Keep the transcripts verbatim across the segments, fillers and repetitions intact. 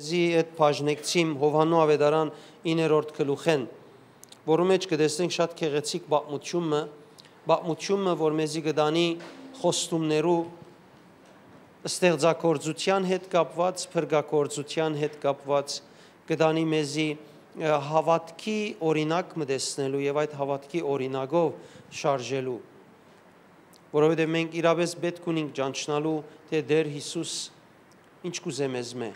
Զի այդ բաժնեկցիմ Յովհաննու Աւետարան իններորդ գլուխէն, որու մէջ կը տեսնենք շատ գեղեցիկ պատմութիւն մը, պատմութիւն մը, որ մեզի կը տանի խոստումներու, ստեղծագործութեան հետ կապուած, փրկագործութեան հետ կապուած, կը տանի մեզի, ը, հաւատքի օրինակ մը տեսնելու եւ այդ հաւատքի օրինակով շարժելու։ Որովհետեւ մենք իրապէս պէտք ունենք ճանչնալու, թէ Տէր Յիսուս ինչ կ'ուզէ մեզմէ,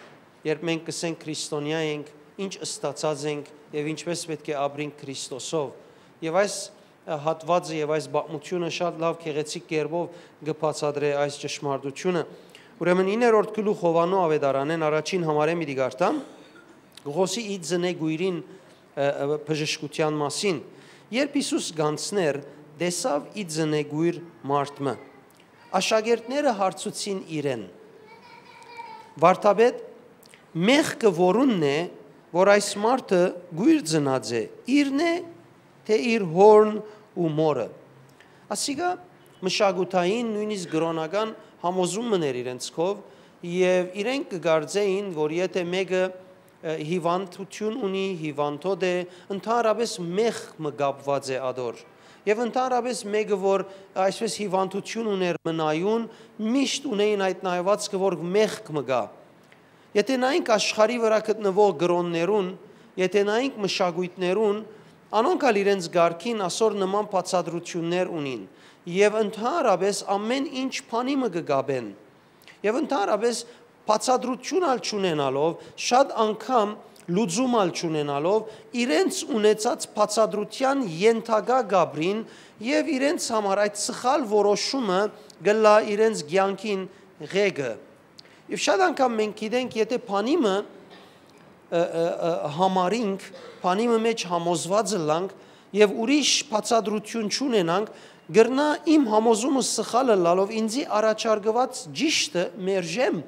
երբ մենք կ'ըսենք Քրիստոնեայ ենք, ինչ ստացած ենք եւ ինչպէս պէտք է ապրենք Քրիստոսով։ Եւ այս, ը, հատուածը եւ այս պատմութիւնը շատ լաւ գեղեցիկ կերպով կը բացատրէ այս ճշմարտութիւնը։ Ուրեմն իններորդ գլուխ Յովհաննու Աւետարանէն առաջին համարէ միտի կարդամ, կը խօսի ի ծնեգոյրին, ը, ը, բժշկութեան մասին։ Երբ Յիսուս գանցներ, տեսաւ ի ծնեգոյր մարդ մը։ Աշակերտները հարցուցին իրեն. «Վարդապետ, մեղքը որունն է, որ այս մարդը գոյր ծնած է, իրն է, թէ իր հորն ու մորը»։ Ասիկա մշակութային, նոյնիսկ կրօնական համոզում մըն էր իրենց քով, եւ իրենք կը կարծէին, որ եթէ մէկը, ը, հիվանդութիւն ունի, հիվանդոտ է, ընդհանրապէս մեղք մը կապուած է ատոր։ Եւ ընդհանրապէս մէկը, որ այսպես հիվանդութիւն ունէր մնայուն, միշտ ունէին այդ նայվածքը, որ մեղք մը կայ։ Եթէ նայենք աշխարհի վրայ գտնուող կրօններուն, եթէ նայենք մշակոյթներուն, անոնք ալ իրենց կարգին ասոր նման բացատրութիւններ ունին եւ ընդհանրապէս ամէն ինչ բանի մը կը կապեն։ Եւ ընդհանրապէս բացատրութիւն ալ չունենալով, շատ անգամ լուծում ալ չունենալով, իրենց ունեցած բացատրութեան ենթակայ կ'ապրին եւ իրենց համար այդ սխալ որոշումը կ'ըլլայ իրենց կեանքին ղեկը։ Եւ շատ անգամ մենք գիտենք, եթէ բանի մը, ը, ը, ը, համարինք, բանի մը մէջ համոզուած ըլլանք եւ ուրիշ բացատրութիւն չունենանք, կրնայ իմ համոզումը սխալ ըլլալով ինծի առաջարկուած ճիշդը մերժեմ։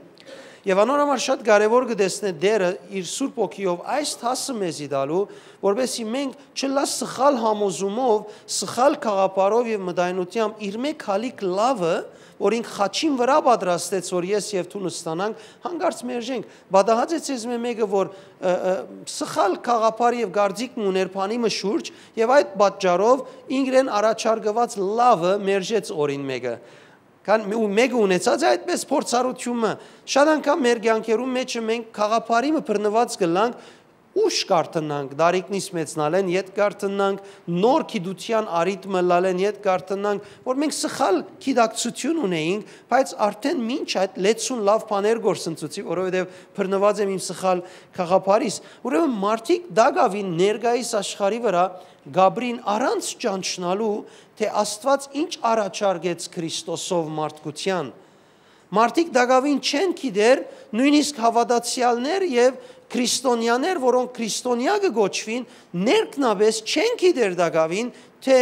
Եւ անոր համար շատ կարեւոր կը տեսնէ Տէրը իր Սուրբ Հոգիով այս դասը մեզի տալու, որպեսզի մենք չըլլայ սխալ համոզումով, սխալ գաղափարով եւ մտայնութեամբ իրմէ քալիք լաւը, որ ինք խաչին վրայ պատրաստեց, որ ես եւ դուն ստանանք, հանկարծ մերժենք։ Պատահած է ձեզմէ մէկը, որ, ը, ը, սխալ գաղափար եւ կարծիք մը ունէր բանի մը շուրջ, եւ այդ պատճառով ինքրեն առաջարկուած լաւը մերժեց օրին մէկը։ Քան մէ-, ու մէկը ունեցած է այդպես փորձառութիւնը։ Շատ անգամ մեր կեանքերուն մէջը մենք գաղափարի մը բռնուած կ'ըլլանք, ուշ կարթնանք, դարիքնից մեծնալէն յետ կարթնանք, նոր գիտութեան առիթ մը ըլլալէն յետ կարթնանք, որ մենք սխալ գիտակցութիւն ունէինք, բայց արդէն մինչ այդ լեցուն լաւ բաներ գործընծուցի, որովհետեւ բռնուած եմ իմ սխալ գաղափարիս։ Ուրեմն մարդիկ տակաւին ներկայիս աշխարհի վրայ կ'ապրին առանց ճանչնալու, թէ Աստուած ինչ առաջարկեց Քրիստոսով մարդկութեան։ Մարդիկ տակաւին չեն գիտեր, նոյնիսկ հաւատացեալներ եւ քրիստոնեաներ, որոնք քրիստոնեայ կը կոչուին, ներքնապէս չեն գիտեր տակաւին, թէ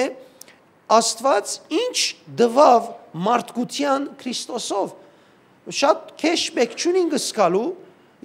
Աստուած ինչ տուաւ մարդկութեան Քրիստոսով։ Շատ քեշ պէտք չունին կը զգալու,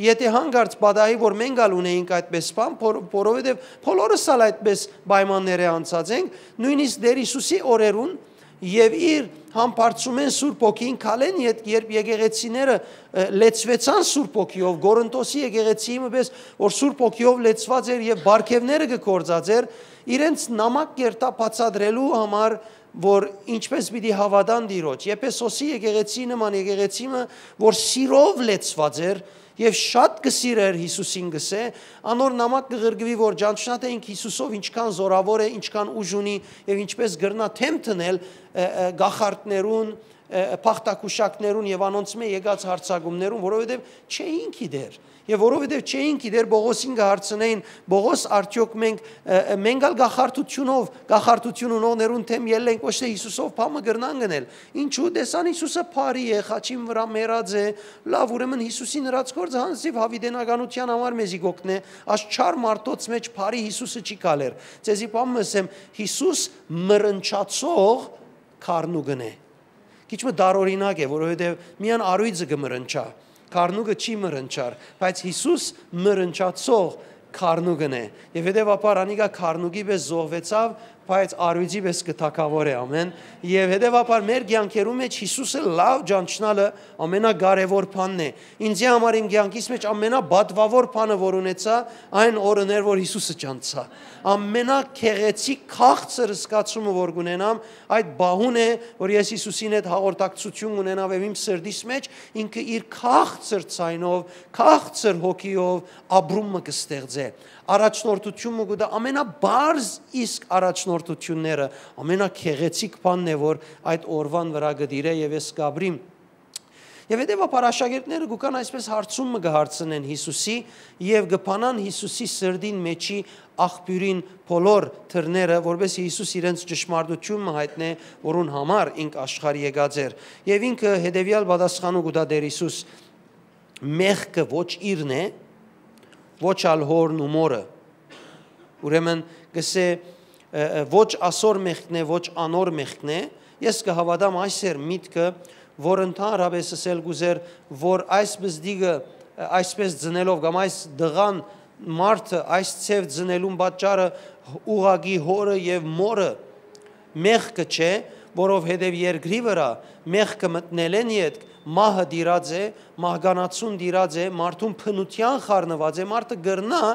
եթէ հանկարծ պատահի, որ մենք ալ ունեինք այդպես բան, որ-, որովհետեւ բոլորս ալ այդպես պայմաններէ անցած ենք, նոյնիսկ Տէր Յիսուսի օրերուն եւ իր համբարձումէն Սուրբ Հոգին քալէն յետ, երբ եկեղեցիները, ը, լեցուեցան Սուրբ Հոգիով, Կորինթոսի եկեղեցիի մը պէս, որ Սուրբ Հոգիով լեցուած էր եւ պարգեւները կը գործածէր, իրենց նամակ կերտայ բացատրելու համար, որ ինչպես պիտի հաւատան Տիրոջ։ Եփեսոսի եկեղեցի նման եկեղեցի մը, որ սիրով լեցուած էր եւ շատ կը սիրէր Յիսուսին, կ'ըսէ, անոր նամակ կը ղրկուի, որ ճանչնայ թէ ինք Յիսուսով ինչքան զօրաւոր է, ինչքան ուժ ունի եւ ինչպես կրնայ դէմ դնել, ը, ը, կախարդներուն, ը, ը, բախտակուշակներուն եւ անոնցմէ եկած յարձակումներուն, որովհետեւ չէին գիտեր։ Եւ որովհետեւ չէին գիտեր, Պողոսին կը հարցնէին. «Պողոս, արդեօք մենք, ը, ը, մենք ալ կախարդութիւնով, կախարդութիւն ունողներուն դէմ ելլենք, ոչ թէ Յիսուսով բան մը կրնանք ընել»։ Ինչու՞, տեսան Յիսուսը բարի է, խաչին վրայ մեռած է, լաւ, ուրեմն Յիսուսին ըրած գործը յանձնիւ յաւիտենականութեան համար մեզի կ'օգնէ, այս չար մարդոց մէջ բարի Յիսուսը չի գալեր։ Ձեզի բան մը ըսեմ, Յիսուս մռնչացող գառնուկն է։ Քիչ մը տարօրինակ է, որովհետեւ միայն առոյծը կը մռնչայ, գառնուկը չի մռնչար, բայց Յիսուս մռնչացող Քարնուկ ընէ։ Եւ հետեւաբար անիկա քարնուկի պէս զոհուեցաւ, բայց առոյծի պէս կը թագաւորէ, ամեն։ Եւ հետեւաբար մեր կեանքերու մէջ Յիսուսը լաւ ճանչնալը ամենակարեւոր բանն է։ Ինձի համար իմ կեանքիս մէջ ամենապատուաւոր բանը, որ ունեցայ, այն օրն էր, որ Յիսուսը ճանչցայ։ Ամենագեղեցիկ քաղցր զգացումը, որ կունենամ, այդ պահուն է, որ ես Յիսուսին հետ հաղորդակցություն ունենամ եւ իմ սրտիս մէջ ինքը իր քաղցր ձայնով, քաղցր հոգիով ապրում մը կը ստեղծէ։ Առաջնորդություն մը կու տայ, ամենաբարձ իսկ առաջնորդությունները, ամենագեղեցիկ բանն է, որ այդ օրուան վրայ կը տիրէ եւ ես կ'ապրիմ։ Եւ հետեւաբար աշակերտները կու կան այսպէս հարցում մը կը հարցնեն Յիսուսի եւ կը բանան Յիսուսի սրտին մէջի աղբիւրին բոլոր դռները, որպէս Յիսուս իրենց ճշմարտություն մը յայտնէ, որուն համար ինք աշխարհ եկած էր։ Եւ ինքը հետեւեալ պատասխանը կու տայ Տէր Յիսուս. «Մեղքը ոչ իրն է, ոչ ալ հորն ու մորը»։ Ուրեմն կ'ըսէ, ը, ը, «Ոչ ասոր մեղքն է, ոչ անոր մեղքն է»։ Ես կը հաւատամ, այս էր միտքը, որ ընդհանրապէս ըսել կ'ուզեր, որ այս բզդիկը, ը, այսպէս ծնելով կամ այս տղան, մարդը այս ձեւ ծնելուն պատճառը ուղղակի հորը եւ մորը մեղքը չէ, որովհետեւ երկրի վրայ մեղքը մտնելէն ետք մահը տիրած է, մահկանացուն տիրած է, մարդուն բնութեան խառնուած է, մարդը կրնայ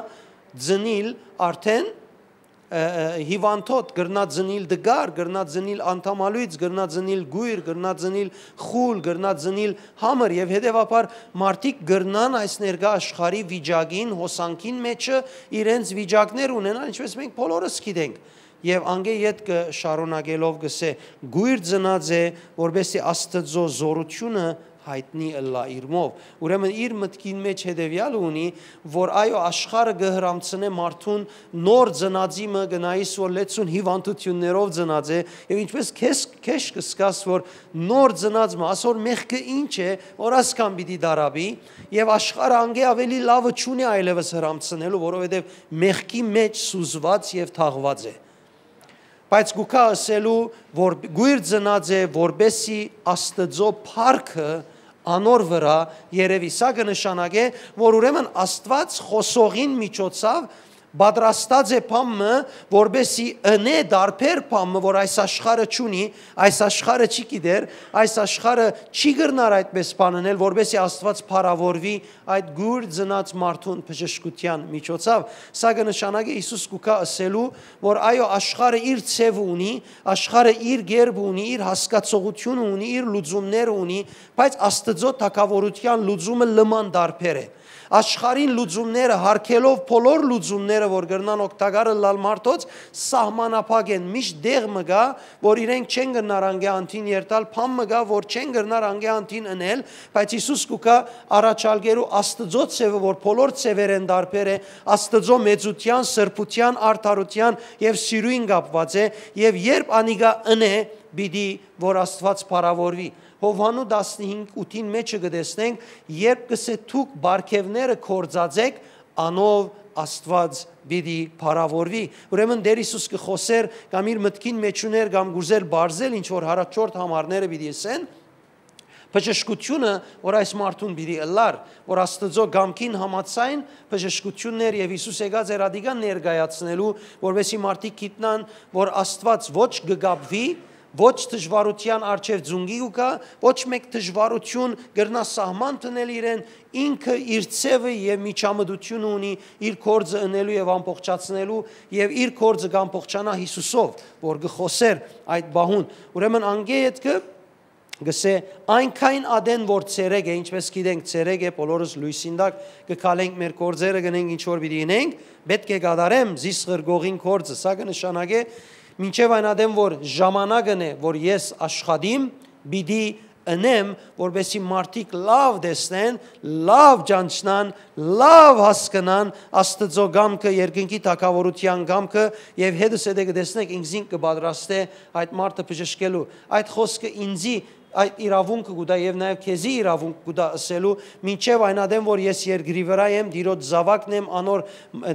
ծնիլ արդէն, ը, ը, հիւանդոտ, կրնայ ծնիլ տկար, կրնայ ծնիլ անդամալոյծ, կրնայ ծնիլ կոյր, կրնայ ծնիլ խուլ, կրնայ ծնիլ համր եւ հետեւաբար մարդիկ կրնան այս ներկայ աշխարհի վիճակին, հոսանքին մէջը իրենց վիճակներ ունենան, ինչպես մենք բոլորս գիտենք։ Եւ անկէ ետքը շարունակելով կ'ըսէ. «Կոյր ծնած է, որպէս զի Աստուծոյ զօրութիւնը յայտնի ըլլայ իրմով»։ Ուրեմն իր մտքին մէջ հետեւեալը ունի, որ այո, աշխարհը կը հրամցնէ մարդուն նոր ծնածի մը, կը նայիս, որ լեցուն հիւանդութիւններով ծնած է, եւ ինչպես քեզ քեշ կը զգաս, որ նոր ծնած մը, ասոր մեղքը ինչ է, որ ասկան պիտի դարապի, եւ աշխարհը անկէ աւելի լաւը չունի այլեւս հրամցնելու, որովհետեւ մեղքի մէջ սուզուած եւ թաղուած է։ Բայց կու գայ ըսելու, որ կոյր ծնած է, որպէս զի Աստուծոյ փառքը անոր վրայ երեւի։ Սա կը նշանակէ, որ ուրեմն Աստուած խօսողին միջոցաւ պատրաստած է բան մը, որպէս զի ընէ դարբեր բան մը, որ այս աշխարհը չունի, այս աշխարհը չի գիտեր, այս աշխարհը չի կրնար այդպէս բան ընել, որպէս զի Աստուած փառաւորուի այդ կոյր ծնած մարդուն բժշկութեան միջոցաւ։ Սա կը նշանակէ, Յիսուս կու գայ ըսելու, որ այո, աշխարհը իր ձեւը ունի, աշխարհը իր գերբը ունի, իր հասկացողութիւնը ունի, իր լուծումները ունի, բայց Աստուծոյ թագաւորութեան լուծումը լման դարբեր է։ Աշխարհին լուծումները, հարգելով բոլոր լուծումները, որ կրնան օգտակար ըլլալ մարդոց, սահմանափակ են։ Միշտ դեղ մը կայ, որ իրենք չեն կրնար անկէ անդին երթալ, բան մը կայ, որ չեն կրնար անկէ անդին ընել, բայց Յիսուս կու գայ առաջարկելու Աստուծոյ ձևը, որ բոլոր ձևերէն դարբեր է, Աստուծոյ մեծութեան, սրբութեան, արդարութեան եւ սիրոյն կապուած է, եւ երբ անիկա ընէ, պիտի որ Աստուած փառաւորուի։ Յովհաննու տասնհինգ ութին մէջը կը տեսնենք, երբ կ'ըսէ. «Դուք պարգեւները գործածէք, անով Աստուած պիտի փառաւորուի»։ Ուրեմն Տէր Յիսուս կը խօսէր կամ իր մտքին մէջ ուներ կամ կ'ուզեր բարձել ինչ որ յառաջորդ համարները պիտի ըսեն, բժշկութիւնը, որ այս մարդուն պիտի ըլլար, որ Աստուծոյ կամքին համաձայն բժշկութիւնն էր եւ Յիսուս եկած էր ադիկա ներկայացնելու, որպեսզի մարդիկ գիտնան, որ Աստուած ոչ կը կապուի, ոչ դժուարութեան առջեւ ձունկի կու գայ, ոչ մէկ դժուարութիւն կրնայ սահման դնել իրեն, ինքը իր ձևը եւ միջամտությունը ունի իր գործը ընելու եւ ամբողջացնելու, եւ իր գործը կ'ամբողջանայ Յիսուսով, որ կը խօսէր այդ պահուն։ Ուրեմն անկէ ետքը կ'ըսէ. «Այնքան ատեն որ ցերեկ է», ինչպես գիտենք, ցերեկ է, բոլորս լոյսին տակ կը քալենք, մեր գործերը կ'ընենք, ինչ որ պիտի ընենք, պէտք է կատարեմ զիս ղրկողին գործը։ Սա կը նշանակէ, մինչեւ այն ատեն որ ժամանակն է, որ ես աշխատիմ, պիտի ընեմ, որպեսզի մարդիկ լաւ տեսնեն, լաւ ճանչնան, լաւ հասկնան Աստուծոյ կամքը, երկնքի թագաւորութեան կամքը, եւ հետս հետը կը տեսնեք, ինքզինք կը պատրաստէ այդ մարդը բժշկելու։ Այդ խօսքը ինձի այդ իրաւունքը կու տայ եւ նաեւ քեզի իրաւունք կու տայ ըսելու, մինչեւ այն ատեն որ ես երկրի վրայ եմ, Տիրոջ զաւակն եմ, անոր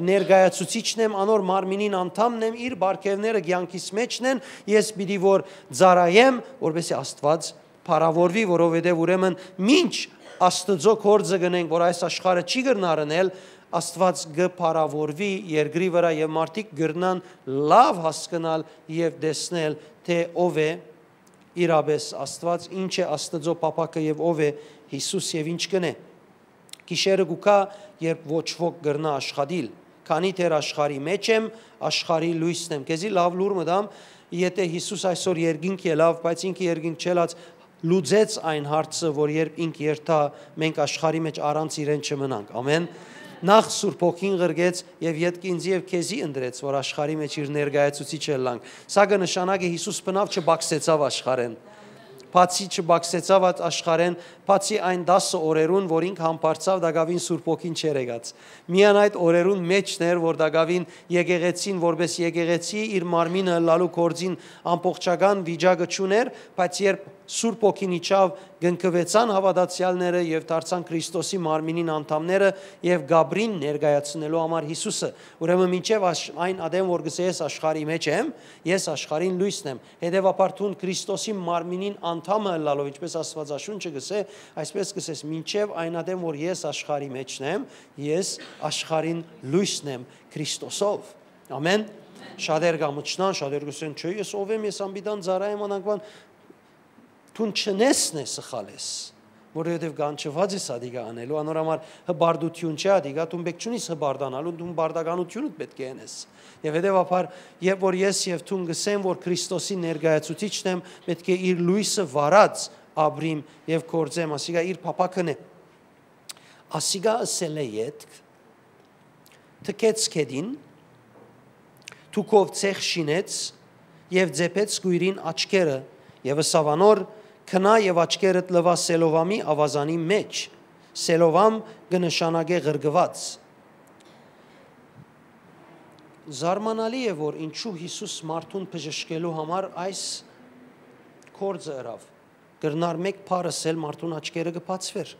ներկայացուցիչն եմ, անոր մարմինին անդամն եմ, իր պարգեւները կեանքիս մէջն են, ես պիտի որ ծառայեմ, որպեսզի Աստուած փառաւորուի, որովհետեւ ուրեմն մինչ Աստուծոյ գործը կ'ընենք, որ այս աշխարհը չի կրնար ընել, Աստուած կը փառաւորուի երկրի վրայ եւ մարդիկ կրնան լաւ հասկնալ եւ տեսնել, թէ ով է իրապէս Աստուած, ինչ է Աստուծոյ փափաքը եւ ով է Յիսուս եւ ինչ կ'ընէ։ Գիշերը կու գայ, երբ ոչ ոք կրնայ աշխատիլ։ Քանի դեռ աշխարհի մէջ եմ, աշխարհի լոյսն եմ։ Քեզի լաւ լուր մը տամ, եթէ Յիսուս այսօր երկինք ելաւ, բայց ինքը երկինք չելած, լուծեց այն հարցը, որ երբ ինք երթայ, մենք աշխարհի մէջ առանց իրեն չմնանք։ Ամեն։ Նախ Սուրբ Հոգին ղրկեց եւ ետքը ինձի եւ քեզի ընտրեց, որ աշխարհի մէջ իր ներկայացուցիչ ըլլանք։ Սա կը նշանակէ Յիսուս բնաւ չբակսեցաւ աշխարհէն։ Բացի չբակսեցաւ այդ աշխարհէն, բացի այն տասը օրերուն, որ ինք համբարձաւ, տակաւին Սուրբ Հոգին չէր եկած։ Միայն այդ օրերուն մէջն էր, որ տակաւին եկեղեցին, որպէս եկեղեցի, իր մարմինը ըլլալու գործին ամբողջական վիճակը չունէր, բայց երբ Սուրբ Հոգին իջաւ, կնքուեցան հաւատացեալները եւ դարձան Քրիստոսի մարմինին անդամները եւ կ'ապրին ներկայացնելու համար Յիսուսը։ Ուրեմն մինչեւ աշ-, այն ատեն, որ կ'ըսէ, «Ես աշխարհի մէջ եմ, ես աշխարհին լոյսն եմ»։ Հետեւաբար դուն Քրիստոսի մարմինին անդամը ըլլալով, ինչպէս Աստուածաշունչը կ'ըսէ, այսպէս կ'ըսես, «Մինչեւ այն ատեն, որ ես աշխարհի մէջն եմ, ես աշխարհին լոյսն եմ Քրիստոսով»։ Ամեն։ Շատեր կամչնան, շատեր կ'ըսեն, «Չէ, ես ով եմ, ես անպիտան ծառայեմ անանքուան»։ Դուն չնես նե սխալ ես, որովհետեւ կանչուած ես ադիկա անելու, անոր համար հպարտություն չէ ադիկա, դուն պէտք չունիս հպարտանալու, դուն պարտականությունդ պէտք է ընես։ Եւ հետեւաբար, երբ որ ես եւ դուն կ'ըսեմ, որ Քրիստոսի ներկայացուցիչն եմ, պէտք է իր լոյսը վառած ապրիմ եւ գործեմ, ասիկա իր փափաքն է։ Ասիկա ըսելէ ետք, թքեց քեդին, թուքով ցեխ շինեց եւ ձեփեց կոյրին աչքերը, եւ ըսաւ անոր. «Քնա եւ աչքերդ լուա Սելովամի աւազանի մէջ»։ Սելովամ կը նշանակէ ղրկուած։ Զարմանալի է, որ ինչու Յիսուս մարդուն բժշկելու համար այս գործը ըրաւ։ Կրնար մէկ բառ ըսել, մարդուն աչքերը կը բացուէր։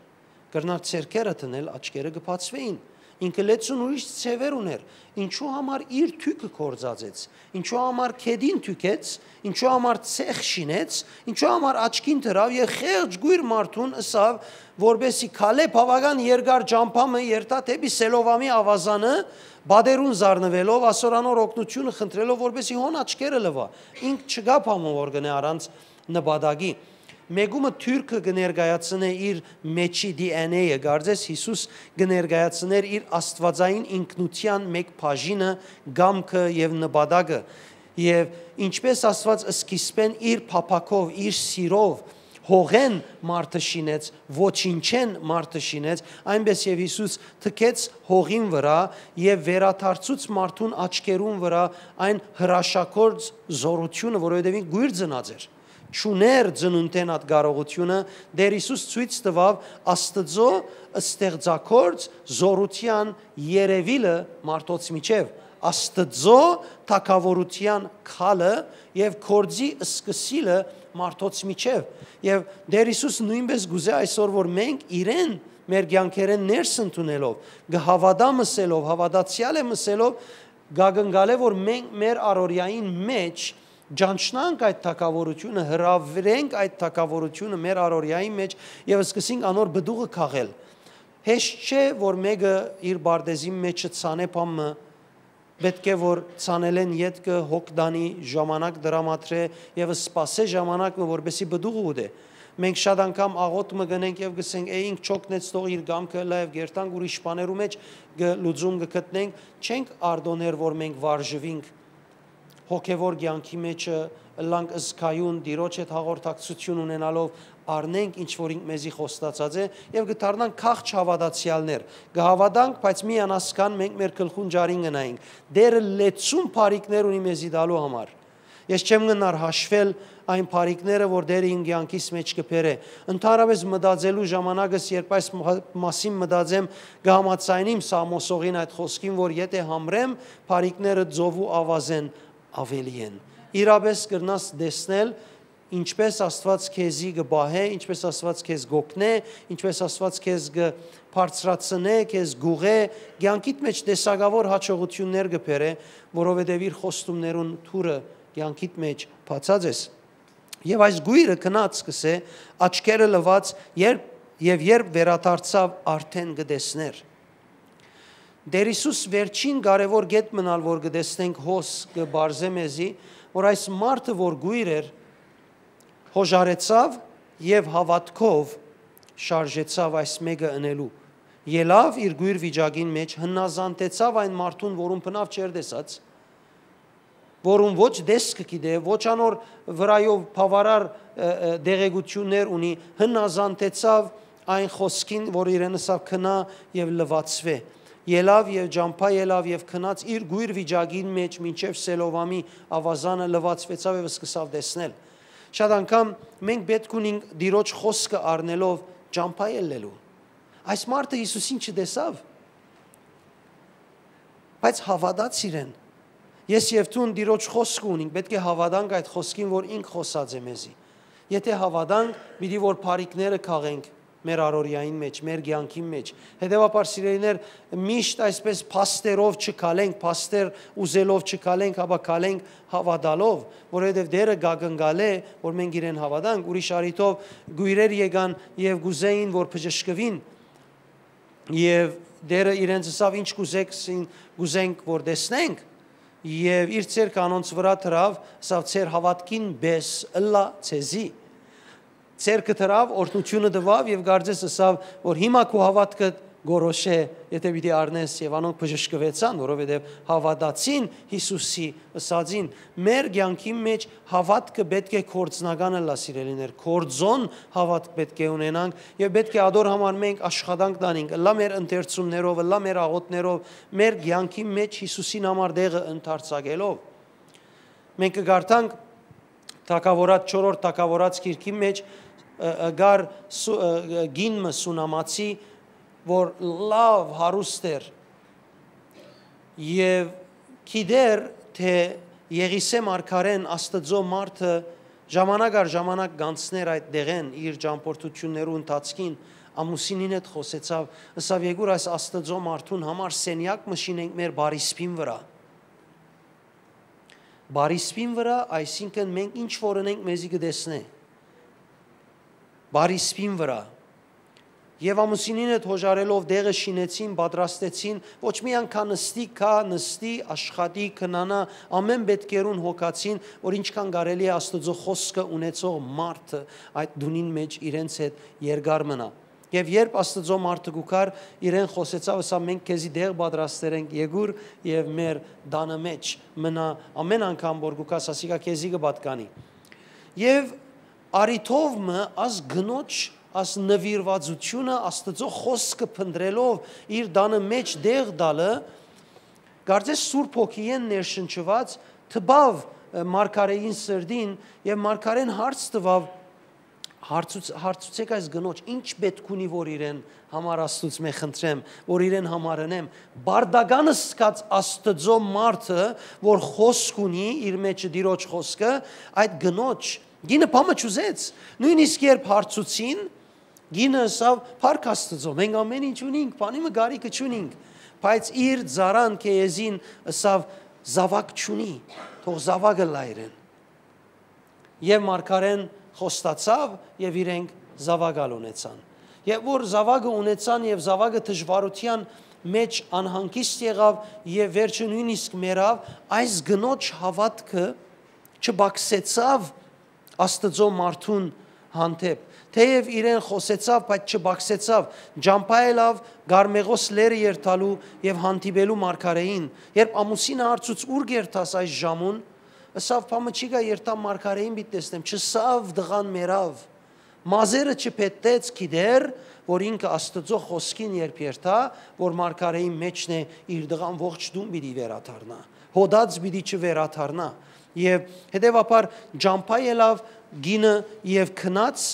Կրնար ձեռքերը դնել, աչքերը կը բացուէին։ Ինքը լեցուն ուրիշ ձեւեր ունէր։ Ինչու համար իր թոյքը գործածեց, ինչու համար քեդին թոյքեց, ինչու համար ցեխ շինեց, ինչու համար աչքին դրաւ եւ խեղճ գոյր մարդուն ըսաւ, որպէսի քալէ բաւական երկար ճամբայ մը երթայ դէպի Սելովամի աւազանը, պատերուն զարնուելով, ասոր անոր օգնութիւնը խնդրելով, որպէսի հոն աչքերը լուայ։ Ինք չկայ բան մը որ կ'ընէ առանց նպատակի։ Մէկումը թոյքը կը ներկայացնէ իր մէջի D N A-ը, կարծես Յիսուս կը ներկայացնէր իր աստուածային ինքնութեան մէկ բաժինը, կամքը եւ նպատակը։ Եւ ինչպէս Աստուած սկիզբէն իր փափաքով, իր սիրով հողէն մարդը շինեց, ոչինչէն մարդը շինեց, այնպէս եւ Յիսուս թքեց հողին վրայ եւ վերադարձուց մարդուն աչքերուն վրայ այն հրաշագործ զօրութիւնը, որովհետեւ ինք կոյր ծնած էր, չունէր ծնունդէն այդ կարողութիւնը, Տէր Յիսուս ցոյց տուաւ Աստուծոյ ստեղծագործ զօրութեան երեւիլը մարդոց միջեւ, Աստուծոյ թագաւորութեան քալը եւ գործի սկսիլը մարդոց միջեւ։ Եւ Տէր Յիսուս նոյնպէս կ'ուզէ այսօր, որ մենք իրեն մեր կեանքերէն ներս ընդունելով, կը հաւատամ ըսելով, հաւատացեալ եմ ըսելով, կակնկալէ, որ մենք մեր առօրեային մէջ ճանչնանք այդ թագաւորութիւնը, հրաւիրենք այդ թագաւորութիւնը մեր առօրեային մէջ եւ սկսենք անոր պտուղը քաղել։ Հեշտ չէ, որ մէկը իր պարտեզին մէջը ցանէ բան մը, պէտք է որ ցանելէն ետքը հոգ տանի, ժամանակ դրամատրէ եւ սպասէ ժամանակ մը, որպեսզի պտուղը ուտէ։ Մենք շատ անգամ աղօթք մը կ'ընենք եւ կ'ըսենք, «Է, ինք չօգնեց, թող իր կամքը ըլլայ», եւ կ'երթանք ուրիշ բաներու մէջ կը, լուծում կը գտնենք, չենք արտօներ, որ մենք վարժուինք հոգեւոր կեանքի մէջը, ըլլանք զգայուն, Տիրոջ հետ հաղորդակցութիւն ունենալով, առնենք ինչ որ ինք մեզի խոստացած է եւ կը դառնանք քաղց հաւատացեալներ։ Կը հաւատանք, բայց մի անասկան մենք մեր գլխուն ջարին կը նայենք։ Տէրը լեցուն բարիքներ ունի մեզի տալու համար։ Ես չեմ գնար հաշվել այն բարիքները, որ Տէրը իմ կեանքիս մէջ կը բերէ։ Ընդհանրապես մտածելու ժամանակս, երբ այս մա-, մասին մտածեմ, կը համաձայնիմ Սամոսողին այդ խօսքին, որ եթէ համրեմ, բարիքները ծովու աւազէն աւելի են։ Իրապէս կրնաս տեսնել, ինչպէս Աստուած քեզի կը պահէ, ինչպէս Աստուած քեզ կ'օգնէ, ինչպէս Աստուած քեզ կը բարձրացնէ, քեզ կ'ուղղէ, կեանքիդ մէջ տեսակաւոր յաջողութիւններ կը բերէ, որովհետեւ իր խոստումներուն թուրը կեանքիդ մէջ բացած ես։ Եւ այս գոյրը գնաց, կ'ըսէ, աչքերը լուած, երբ, եւ երբ վերադարձաւ, արդէն կը տեսնէր։ Տեր Յիսուս վերջին կարեւոր կետ մնալ որ կը տեսնենք հոս կը բարձե մեզի, որ այս մարդը որ գույր էր, հոժարեցաւ եւ հաւատքով շարժեցաւ այս մէկը ընելու։ Ելաւ իր գույր վիճակին մեջ, հնազանդեցաւ այն մարդուն, որուն բնաւ չէր տեսած, որուն ոչ դեսքը գիտէ, ոչ անոր վրայով բաւարար, ը, ը, դեղեկութիւններ ունի, հնազանդեցաւ այն խօսքին, որ իրեն ըսաւ, «Քնա եւ լուացուէ»։ Ելաւ եւ ճամբայ ելաւ եւ գնաց իր գույր վիճակին մեջ մինչեւ Սելովամի աւազանը, լուացուեցաւ եւ սկսաւ տեսնել։ Շատ անգամ մենք պէտք ունինք Տիրոջ խօսքը առնելով ճամբայ ելլելու։ Այս մարդը Յիսուսին չտեսաւ, բայց հաւատաց իրեն։ Ես եւ դուն Տիրոջ խօսքը ունինք, պէտք է հաւատանք այդ խօսքին, որ ինք խօսած է մեզի։ Եթե հաւատանք, պիտի որ բարիքները քաղենք մեր առօրեային մեջ, մեր կեանքին մեջ։ Հետեւաբար, սիրելիներ, միշտ այսպես փաստերով չքալենք, փաստեր ուզելով չքալենք, հապա քալենք հաւատալով, որովհետեւ Տերը կակնկալէ, որ մենք իրեն հաւատանք։ Ուրիշ առիթով գոյրեր եկան եւ կուզեին, որ բժշկուին, եւ Տերը իրենց ըսաւ, «Ինչ կուզեք, սին կուզենք, որ տեսնենք»։ Եւ իր ձեռքը անոնց վրայ դրաւ, ըսաւ, «Ձեր հաւատքին պէս ըլլայ ձեզի»։ Ձեռքը դրաւ, օրհնութիւնը տուաւ եւ կարծես ըսաւ, որ հիմա քու հաւատքը գորոշէ, եթե պիտի առնես, եւ անոնք բժշկուեցան, որովհետեւ հաւատացին Յիսուսի ըսածին։ Մեր կեանքին մեջ հաւատքը պէտք է գործնական ըլլայ, սիրելիներ, գործոն հաւատք պէտք է ունենանք եւ պէտք է ադոր համար մենք աշխատանք տանենք, ըլլայ մեր ընթերցումներով, ըլլայ մեր աղօթքներով, մեր կեանքին մեջ Յիսուսին համար տեղը ընդարձակելով։ Մենք կը կարդանք թագաւորաց, չորրորդ թագաւորաց գիրքին մեջ, ը, ը, կար սու-, ը, ը, կին մը սունամացի, որ լաւ հարուստ էր, եւ գիտեր, թէ Եղիսէ մարգարէն, Աստուծոյ մարդը, ժամանակ առ ժամանակ կանցներ այդ դեղեն իր ճամբորդութիւններու ընթացքին, ամուսինին հետ խօսեցաւ, ըսաւ, «Եկուր այս Աստուծոյ մարդուն համար սենեակ մը շինենք մեր բարիսպին վրայ»։ Բարիսպին վրայ, այսինքն մենք ինչ որ ընենք, մեզի կը տեսնէ։ Բարիսպին վրայ։ Եւ ամուսինին հետ հոժարելով տեղը շինեցին, պատրաստեցին, ոչ միայն քա նստի, քա նստի, աշխատի, քնանայ, ամէն պէտքերուն հոգացին, որ ինչքան կարելի է Աստուծոյ խօսքը ունեցող մարդը այդ տունին մեջ իրենց հետ երկար մնայ։ Եւ երբ Աստուծոյ մարդը կու գար, իրեն խօսեցաւ, ըսաւ, «Մենք քեզի տեղ պատրաստեր ենք, եկուր եւ մեր տանը մեջ մնա, ամէն անգամ որ կու գաս, ասիկա քեզի կը պատկանի»։ Եւ առիթով մը, աս կնոջ, աս նուիրուածութիւնը, Աստուծոյ խօսքը փնտռելով իր տանը մեջ տեղ տալը, կարծես Սուրբ Հոգիէն ներշնչուած, տպաւ, ը, մարգարէին սրտին, եւ մարգարէն հարց տուաւ, հարցուց-, հարցուցեք այս կնոջ, ինչ պէտք ունի, որ իրեն համար Աստուծմէ խնդրեմ, որ իրեն համար ընեմ։ Բարդականը սկաց Աստուծոյ մարդը, որ խօսք ունի իր մեջը Տիրոջ խօսքը, այդ կնոջ, կինը բան մը չուզեց։ Նոյնիսկ երբ հարցուցին, կինը ըսաւ, «Փառք Աստուծոյ, մենք ամէն ինչ ունինք, բանի մը կարիքը չունինք»։ Բայց իր ծառան Քեեզին ըսաւ, «Զաւակ չունի, թող զաւակը լայ իրեն»։ Եւ մարգարէն խոստացաւ եւ իրենք զաւակ ալ ունեցան։ Եւ որ զաւակը ունեցան եւ զաւակը դժուարութեան մեջ անհանգիստ եղաւ եւ վերջը նոյնիսկ մեռաւ, այս կնոջ հաւատքը չբակսեցաւ Աստուծոյ մարդուն հանդէպ։ Թէեւ իրեն խօսեցաւ, բայց չբակսեցաւ, ճամբայ ելաւ Կարմեղոս լեռը երթալու եւ հանդիպելու մարգարէին։ Երբ ամուսինը հարցուց, «Ո՞ւր կ'երթաս այս ժամուն»։ Ըսաւ, «Բան մը չի գայ, երթամ մարգարէին պիտի տեսնեմ»։ Չըսաւ, տղան մեռաւ։ Մազերը չփետտեց, գիտեր, որ ինքը Աստուծոյ խօսքին երբ երթայ, որ մարգարէին մեջն է, իր տղան ողջ տուն պիտի վերադառնայ, հոդած պիտի չվերադառնայ։ Եւ հետեւաբար ճամբայ ելաւ կինը եւ գնաց,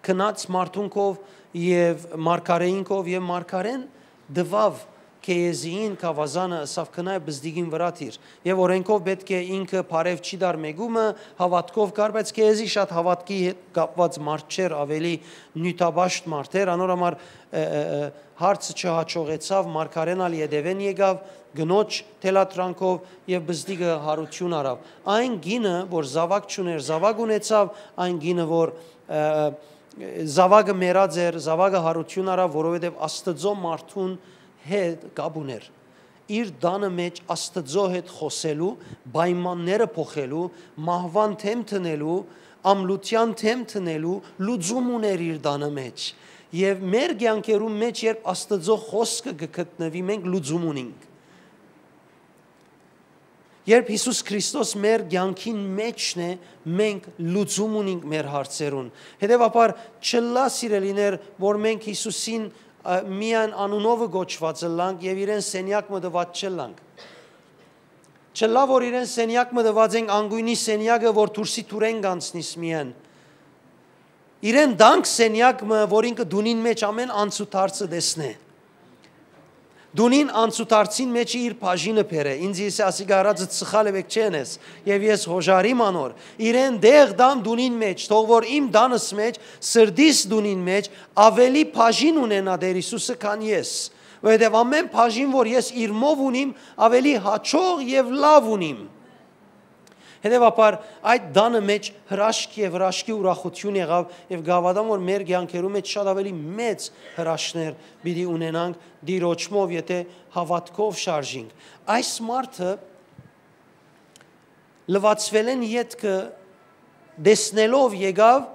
գնաց մարդունքով եւ մարգարէինքով, եւ մարգարէն տուաւ Քեեզիին գաւազանը, ըսաւ, «Գնայ բզդիկին վրայ դիր»։ Եւ օրէնքով պէտք է ինքը բարեւ չի տար մէկումը, հաւատքով կար, բայց Քեեզի շատ հաւատքի հետ կապուած մարդ չէր, աւելի նիւթապաշտ մարդ էր, անոր համար, ը, ը, ը, հարցը չյաջողեցաւ, մարգարէն ալ ետեւէն եկաւ, կնոջ թելադրանքով, եւ բզդիկը յարութիւն առաւ։ Այն կինը, որ զաւակ չունէր, զաւակ ունեցաւ, այն կինը, որ, ը, ը, զաւակը մեռած էր, զաւակը յարութիւն առաւ, որովհետեւ Աստուծոյ մարդուն հետ կապ ուներ։ Իր տանը մէջ Աստուծոյ հետ խօսելու, պայմանները փոխելու, մահուան դէմ դնելու, ամլութեան դէմ դնելու լուծում ուներ իր տանը մէջ։ Եւ մեր կեանքերուն մէջ, երբ Աստուծոյ խօսքը կը գտնուի, մենք լուծում ունինք։ Երբ Յիսուս Քրիստոս մեր կեանքին մէջն է, մենք լուծում ունինք մեր հարցերուն։ Հետեւաբար, չլա, սիրելիներ, որ մենք Յիսուսին, ա, միայն անունովը կոչուած ըլլանք եւ իրեն սենեակ մը տուած չըլլանք։ Չլա, որ իրեն սենեակ մը տուած ենք, անգոյնի սենեակը, որ դուրսի դուրեն կանցնիս միայն։ Իրեն տանք սենեակ մը, որ ինքը տունին մէջ ամէն անցուդարձը տեսնէ։ Տունին անցուդարձին մէջ իր բաժինը բերէ։ Ինձ եսի ասիկա առածը սխալ է, բեք չեն ես։ Եւ ես հոժարիմ անոր։ Իրեն տեղ տան տունին մէջ, թող որ իմ տանս մէջ, սրտիս տունին մէջ ավելի բաժին ունենայ Տէր Յիսուսը, քան ես։ Որովհետեւ ամէն բաժին, որ ես իրմով ունիմ, ավելի յաջող եւ լաւ ունիմ։ Հետեւաբար, այդ տանը մէջ հրաշք եւ հրաշքի ուրախութիւն եղաւ, եւ կհաւատամ, որ մեր կեանքերու մէջ շատ ավելի մեծ հրաշքներ պիտի ունենանք Տիրոջմով, եթե հաւատքով շարժինք։ Այս մարդը լուացուելէն ետքը տեսնելով եկաւ,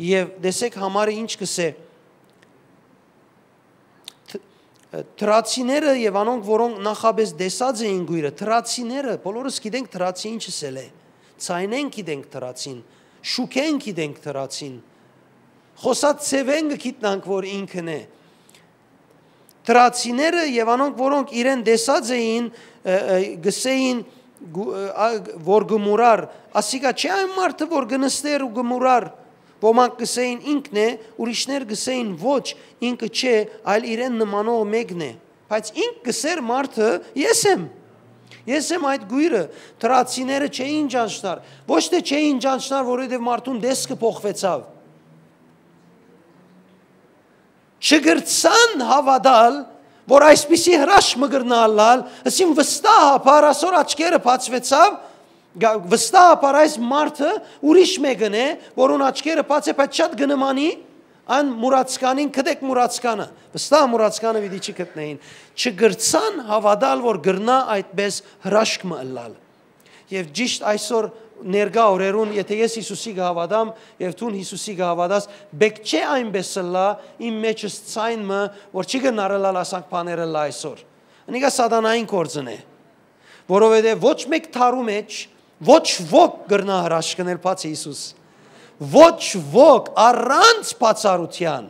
եւ տեսէք համարը ինչ կ'ըսէ. Դ-, դրացիները եւ անոնք, որոնք նախապէս տեսած էին կոյրը, դրացիները, բոլորս գիտենք դրացի ինչ ըսել է, ձայնէն գիտենք դրացին, շուքէն գիտենք դրացին, խօսած ձեւէն կը գիտնանք, որ ինքն է։ Դրացիները եւ անոնք, որոնք իրեն տեսած էին, ը, ը, գսեին, գու-, ը, ա, որ գ-, մուրար, ասիկա չէ՞ այն մարդը, որ գ-, նստեր ու գ-, մուրար։ Ոմանք գսեին, ինքն է, ուրիշներ գսեին, ոչ, ինքը չէ, այլ իրեն նմանող մեկն է։ Բայց ինք գսեր մարդը, ես եմ։ Ես եմ այդ գոյրը։ Դրացիները չէին ճանչնար։ Ոչ թե չէին ճանչնար, որովհետեւ մարդուն տեսքը փոխվեցաւ։ Չկրցան հաւատալ, որ այսպիսի հրաշք մը կրնայ ըլլալ, ըսին վստահաբար ասոր աչքերը բացուեցաւ, գա-, վստահաբար այս մարդը ուրիշ մեկն է, որուն աչքերը բաց է, բայց շատ կը նմանի այն մուրացկանին, գտեք մուրացկանը, վստահ մուրացկանը պիտի չի գտնեին, չկրցան հաւատալ, որ կրնայ այդպէս հրաշք մը ըլլալ։ Եւ ճիշդ այսօր ներկայ օրերուն, եթե ես Յիսուսի կը հաւատամ, եւ դուն Յիսուսի կը հաւատաս, պէք չէ այնպէս ըլլայ իմ մէջս ձայն մը, որ չի կրնար ըլլալ ասանք բաներ ըլլայ այսօր։ Անիկա սատանային գործն է, որովհետեւ ոչ մէկ դարու մէջ ոչ ոք կրնայ հրաշքնել բացի Յիսուս։ Ոչ ոք առանց բացառութեան։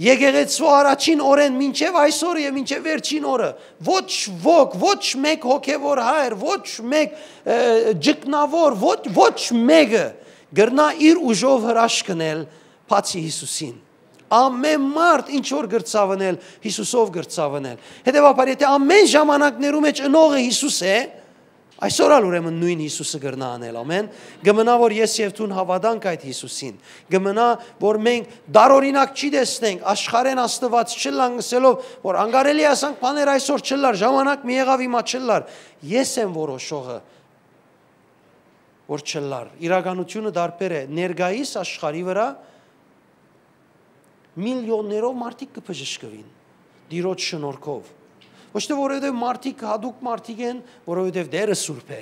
Եկեղեցու առաջին օրէն մինչեւ այսօր եւ մինչեւ վերջին օրը ոչ ոք, ոչ մէկ հոգեւոր հայր, ոչ մէկ, ը, ջկնաւոր, ոչ, ոչ մեկը կրնայ իր ուժով հրաշքնել բացի Յիսուսին։ Ամէն մարդ ինչ որ կրցաւ ընել, Յիսուսով կրցաւ ընել։ Հետեւաբար, եթե ամէն ժամանակներու մէջ ընողը Յիսուս է, այսօր ալ ուրեմն նոյն Յիսուսը կրնայ անել, ամէն։ Կը մնայ, որ ես եւ դուն հաւատանք այդ Յիսուսին։ Կը մնայ, որ մենք դարօրինակ չի տեսնենք, աշխարհէն Աստուած չըլլանք ըսելով, որ անկարելի ասանք բաներ այսօր չըլլար, ժամանակ մի եղաւ, հիմա չըլլար։ Ես եմ որոշողը, որ չըլլար։ Իրականութիւնը տարբեր է։ Ներկայիս աշխարհի վրայ միլիոններով մարդիկ կը բժշկուին Տիրոջ շնորհքով։ Ոչ թե որովհետեւ մարդիկ, յատուկ մարդիկ են, որովհետեւ Տերը սուրբ է։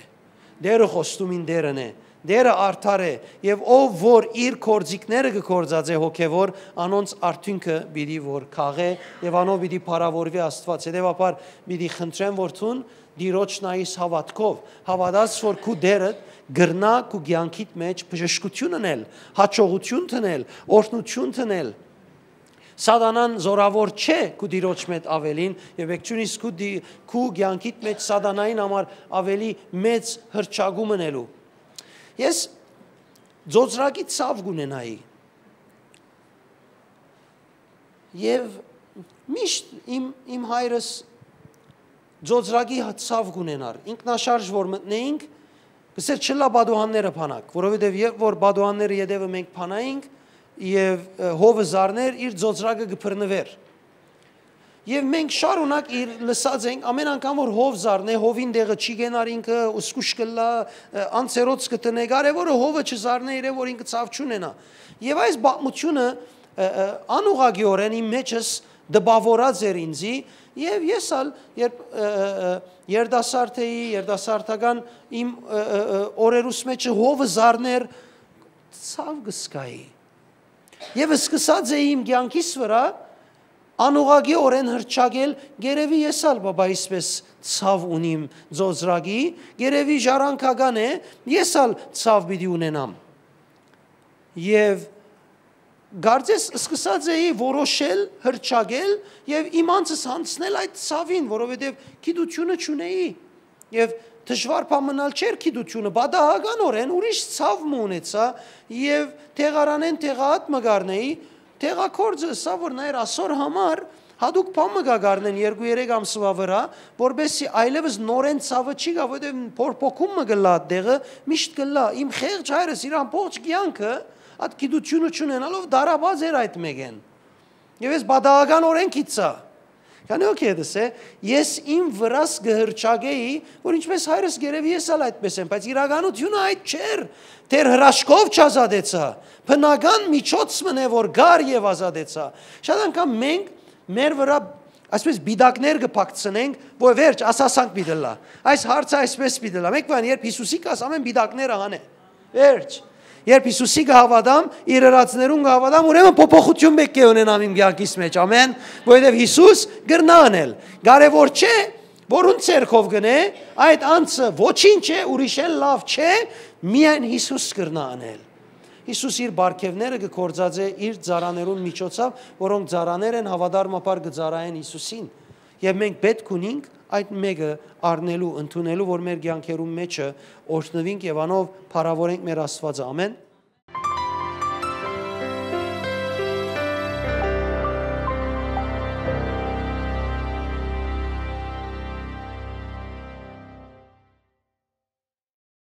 Տերը խոստումին Տերն է։ Տերը արդար է, եւ ով որ իր գործիքները կը գործածէ հոգեվոր, անոնց արդիւնքը պիտի որ քաղէ, եւ անով պիտի փառաւորուի Աստուած։ Հետեւաբար պիտի խնդրեմ, որ դուն Տիրոջ նայիս հաւատքով, հաւատաս, որ քու Տերը կրնայ քու կեանքիդ մէջ բժշկութիւն ընել, յաջողութիւն տնել, օրհնութիւն տնել։ Սատանան զորաւոր չէ քու Տիրոջ մէջ աւելին, եւ եկցունիս քու դի-, քու կեանքիդ մէջ սատանային համար ավելի մեծ հրճակում ընելու։ Ես ծոծրակի ցաւ կունենայի, եւ միշտ իմ, իմ հայրս ծոծրակի ցաւ կունենար։ Ինքնաշարժ որ մտնեինք, կսեր չլա պատուհանները փանակ, որովհետեւ երբ որ պատուհանները ետեւը մենք փանայինք եւ, ը, հովը զարներ, իր ծոծրակը կբռնվեր։ Եւ մենք շարունակ իր լսած ենք, ամեն անգամ որ հով զարնէ, հովին դեղը չի գենար ինքը, ու զգուշ կլա, ը, անցերոց կտնէ, կարեւորը հովը չզարնէ իրեն, որ ինքը ցաւ չունենայ։ Եւ այս պատմությունը, ը, ը, անուղղակիորեն իմ մեջս տպաւորած էր ինձի, եւ ես ալ, երբ, ը, ը, ը, երիտասարդ էի, երիտասարդական իմ, ը, ը, ը, օրերուս մէջը հովը զարներ, ցաւ կը զգայի։ Եւ սկսած էի իմ կեանքիս վրայ անուղղակիօրէն հռչակել, «Երեւի ես ալ, բաբա, այսպես ցաւ ունիմ ծոծրակի, երեւի ժառանգական է, ես ալ ցաւ պիտի ունենամ»։ Եւ կարծես սկսած էի որոշել, հռչակել եւ իմ անձս յանձնել այդ ցաւին, որովհետեւ գիտութիւնը չունէի։ Եւ դժուար բան մնալ չէր գիտութիւնը, պատահականօրէն ուրիշ ցաւ մը ունեցայ եւ տեղարանէն տեղայատ մը կ'առնէի, տեղագործը ըսաւ, որ նայր, ասոր համար յատուկ բան մը կը կ'առնեն երկու երեք ամսուայ վրայ, որպէսզի այլեւս նորէն ցաւը չի գայ, որովհետեւ փոփոխում մը կ'ըլլայ այդ տեղը, միշտ կ'ըլլայ։ Իմ խեղճ հայրս իր ամբողջ կեանքը այդ գիտութիւնը չունենալով տառապած էր այդ մէկէն։ Եւ ես պատահականօրէն գիտցայ։ Քանի օքեյ դսե, ես իմ վրաս կը հռչակէի, որ ինչպես հայրս, երեւի ես ալ այդպես եմ, բայց իրականութիւնը այդ չէր, դեռ հրաշքով չազատեցայ, բնական միջոց մըն է, որ կար եւ ազատեցայ։ Շատ անգամ մենք մեր վրայ այսպես պիտակներ կը փակցնենք, որ վերջ, ասասանք պիտի ըլլայ, այս հարցը այսպես պիտի ըլլայ։ Մէկ բան, երբ Յիսուսի կաս, ամէն պիտակները հանէ, վերջ։ Երբ Յիսուսի կը հաւատամ, իր ըրածներուն կը հաւատամ, ուրեմն փոփոխութիւն պէտք է ունենամ իմ կեանքիս մէջ, ամէն, որովհետեւ Յիսուս կրնայ անել։ Կարեւոր չէ, որուն ձեռքով կ'ընէ, այդ անձը ոչինչ է, ուրիշէն լաւ չէ, միայն Յիսուս կրնայ անել։ Յիսուս իր պարգեւները կը գործածէ իր ծառաներուն միջոցով, որոնք ծառաներ են, հաւատարմաբար կը ծառայեն Յիսուսին։ Եւ մենք պէտք ունինք այդ մէկը առնելու, ընդունելու, որ մեր կեանքերուն մէջը օրհնուինք եւ անով փառաւորենք մեր Աստուածը։ Ամէն։